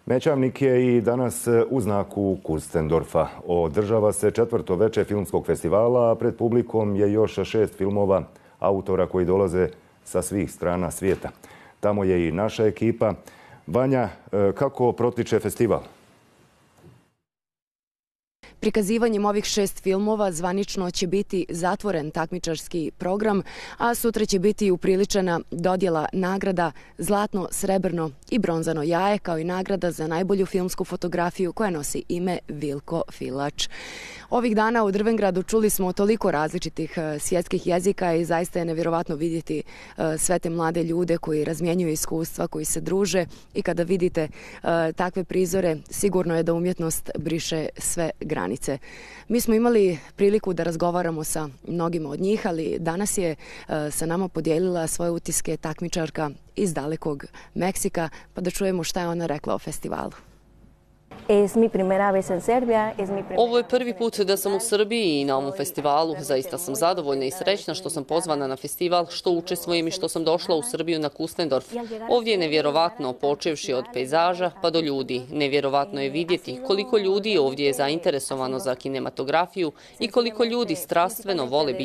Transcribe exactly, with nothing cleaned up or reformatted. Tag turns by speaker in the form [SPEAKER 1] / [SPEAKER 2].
[SPEAKER 1] Mećavnik je i danas u znaku Kustendorfa. Održava se četvrto veče filmskog festivala, a pred publikom je još šest filmova autora koji dolaze sa svih strana svijeta. Tamo je i naša ekipa. Vanja, kako protiče festival?
[SPEAKER 2] Prikazivanjem ovih šest filmova zvanično će biti zatvoren takmičarski program, a sutra će biti upriličena dodjela nagrada Zlatno, srebrno i bronzano jaje, kao i nagrada za najbolju filmsku fotografiju koja nosi ime Vilko Filač. Ovih dana u Drvengradu čuli smo toliko različitih svjetskih jezika i zaista je nevjerovatno vidjeti sve te mlade ljude koji razmjenjuju iskustva, koji se druže, i kada vidite takve prizore, sigurno je da umjetnost briše sve granice. Mi smo imali priliku da razgovaramo sa mnogima od njih, ali danas je sa nama podijelila svoje utiske takmičarka iz dalekog Meksika, pa da čujemo šta je ona rekla o festivalu.
[SPEAKER 3] Ovo je prvi put da sam u Srbiji i na ovom festivalu. Zaista sam zadovoljna i srećna što sam pozvana na festival, što učestvujem i što sam došla u Srbiju na Kustendorf. Ovdje je nevjerovatno, počevši od pejzaža pa do ljudi. Nevjerovatno je vidjeti koliko ljudi ovdje je zainteresovano za kinematografiju i koliko ljudi strastveno vole biti